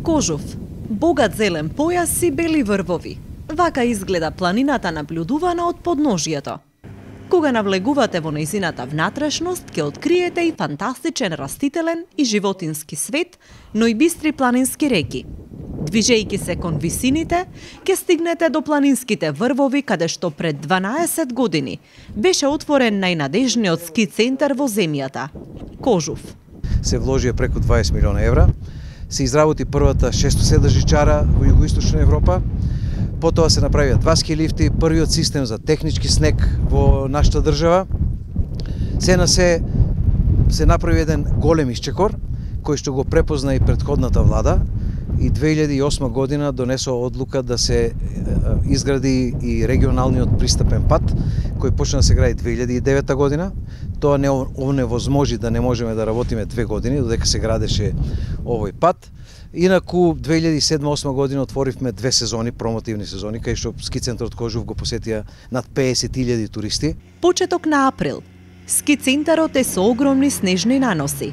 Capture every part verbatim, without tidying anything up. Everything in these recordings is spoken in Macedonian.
Кожув, богат зелен појас и бели врвови. Вака изгледа планината наблюдувана од подножјето. Кога навлегувате во нејзината внатрешност, ќе откриете и фантастичен растителен и животински свет, но и бистри планински реки. Движејќи се кон висините, ќе стигнете до планинските врвови, каде што пред дванаесет години беше отворен најнадежниот ски центар во земјата – Кожув. Се вложија преку дваесет милиона евра, се изработи првата шестоседажичара во југоисточна Европа, потоа се направија два ски лифти, првиот систем за технички снег во нашата држава. Се на се се направи еден голем исчекор, кој што го препозна и претходната влада, и две илјади и осма година донесо одлука да се изгради и регионалниот пристапен пат, кој почна да се гради две илјади и девета година. Тоа не оневозможи да не можеме да работиме две години, додека се градеше овој пат. Инаку, две илјади и седма осма година отворивме две сезони, промотивни сезони, кај што ски центарот Кожув го посетија над песет илјади туристи. Почеток на април. Ски центарот е со огромни снежни наноси.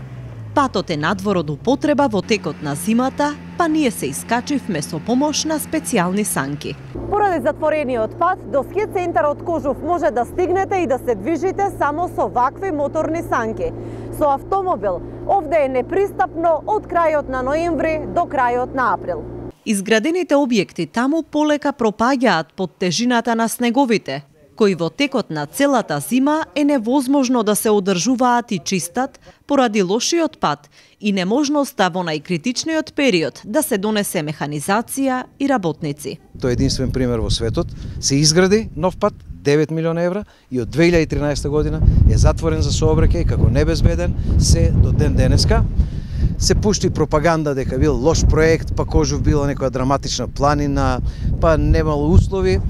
Патот е надвор од употреба во текот на зимата, па ние се искачивме со помош на специјални санки. Поради затворениот пат, до ски центарот Кожув може да стигнете и да се движите само со вакви моторни санки. Со автомобил, овде е непристапно од крајот на ноември до крајот на април. Изградените објекти таму полека пропаѓаат под тежината на снеговите, кои во текот на целата зима е невозможно да се одржуваат и чистат поради лошиот пат и неможноста во најкритичниот период да се донесе механизација и работници. Тоа е единствен пример во светот. Се изгради нов пат, девет милиона евра, и од две илјади и тринаесета година е затворен за сообраќај како небезбеден се до ден денеска. Се пушти пропаганда дека бил лош проект, па Кожув била некоја драматична планина, па немало услови.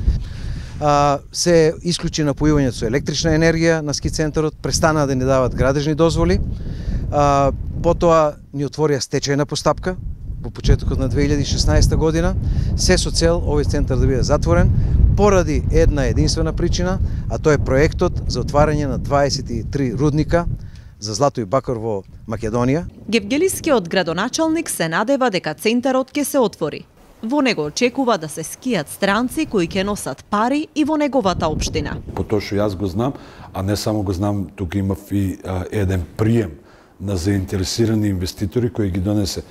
А, се исклучи напојувањето со електрична енергија на ски центарот, престанаа да ни дават градежни дозволи. А, потоа ни отворија стечајна постапка во почетокот на две илјади и шеснаесета година, се со цел овој центар да биде затворен поради една единствена причина, а тоа е проектот за отварање на дваесет и три рудника за злато и бакар во Македонија. Гевгелискиот градоначалник се надева дека центарот ќе се отвори. Во него очекува да се скијат странци кои ќе носат пари и во неговата општина. По тоа што јас го знам, а не само го знам, тука имав и а, еден прием на заинтересирани инвеститори кои ги донесе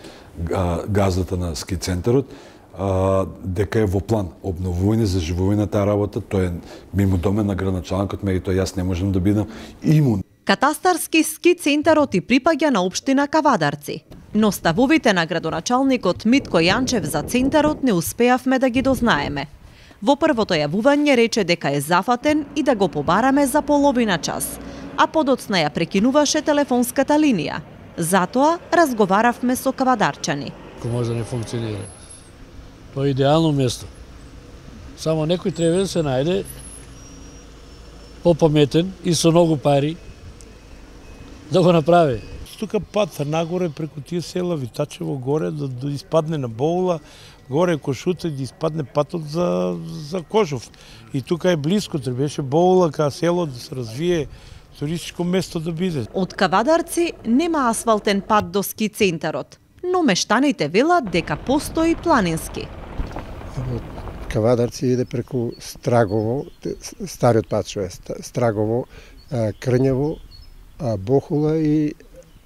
а, газата на ски центарот, а, дека е во план обновување, заживување на таа работа. Тоа е мимо домен на градоначалникот, меѓутоа јас не можам да бидам имун. Катастарски ски центарот и припаѓа на општина Кавадарци. Но ставовите на градоначалникот Митко Јанчев за центарот не успеавме да ги дознаеме. Во првото јавување рече дека е зафатен и да го побараме за половина час, а подоцна ја прекинуваше телефонската линија. Затоа разговаравме со кавадарчани. Ко може да не функционира. Тоа е идеално место. Само некој треба да се најде попаметен и со многу пари да го направи. Тука пат нагоре преку тие села Витачево горе да, да испадне на Боула, горе Кошута да испадне патот за за Кожув. И тука е близко, требаше Боула кај село да се развие туристичко место да биде. Од Кавадарци нема асфалтен пат до ски центарот, но мештаните велат дека постои планински. Од Кавадарци иде преку Страгово, стариот пат што е Страгово, Крњево, Бохула и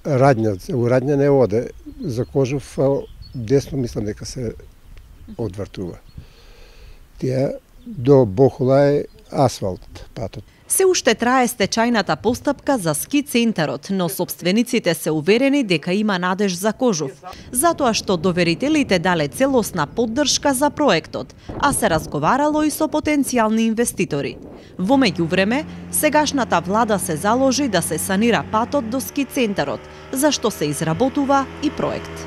Радња. У Радња не оде, за Кожув десно мислам дека се одвртува. Тие до Бохула е асфалт патот. Се уште трае стечајната постапка за ски центарот, но собствениците се уверени дека има надеж за Кожув, затоа што доверителите дале целосна поддршка за проектот, а се разговарало и со потенцијални инвеститори. Во меѓувреме, сегашната влада се заложи да се санира патот до ски центарот, за што се изработува и проект.